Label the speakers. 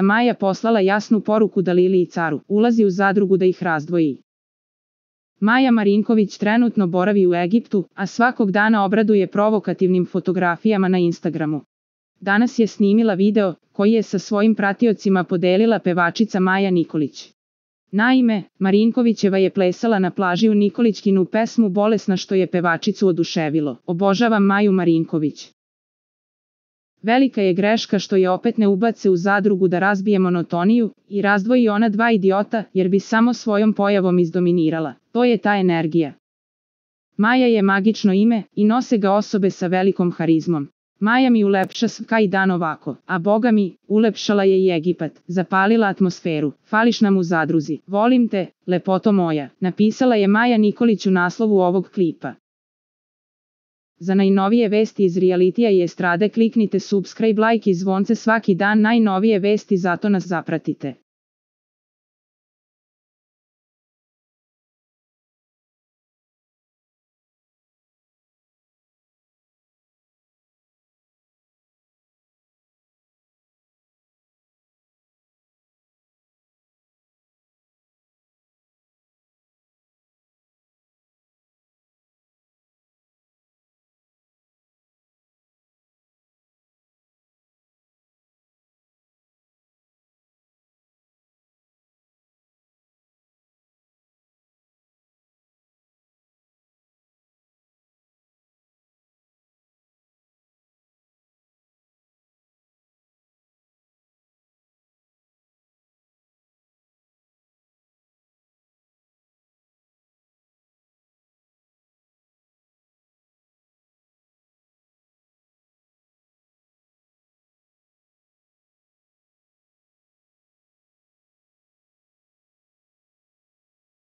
Speaker 1: Maja poslala jasnu poruku Dalili i Caru, ulazi u zadrugu da ih razdvoji. Maja Marinković trenutno boravi u Egiptu, a svakog dana obraduje provokativnim fotografijama na Instagramu. Danas je snimila video, koji je sa svojim pratiocima podelila pevačica Maja Nikolić. Naime, Marinkovićeva je plesala na plaži u Nikolićkinu pesmu Bolesna što je pevačicu oduševilo. Obožavam Maju Marinković. Velika je greška što je opet ne ubace u zadrugu da razbije monotoniju i razdvoji ona dva idiota, jer bi samo svojom pojavom izdominirala. To je ta energija. Maja je magično ime i nose ga osobe sa velikom harizmom. Maja mi ulepša svaki dan ovako, a boga mi, ulepšala je i Egipat, zapalila atmosferu, fališ nam u zadruzi, volim te, lepoto moja, napisala je Maja Nikolić u naslovu ovog klipa. Za najnovije vesti iz realitija i estrade kliknite subscribe, like i zvonce svaki dan, najnovije vesti, zato nas zapratite.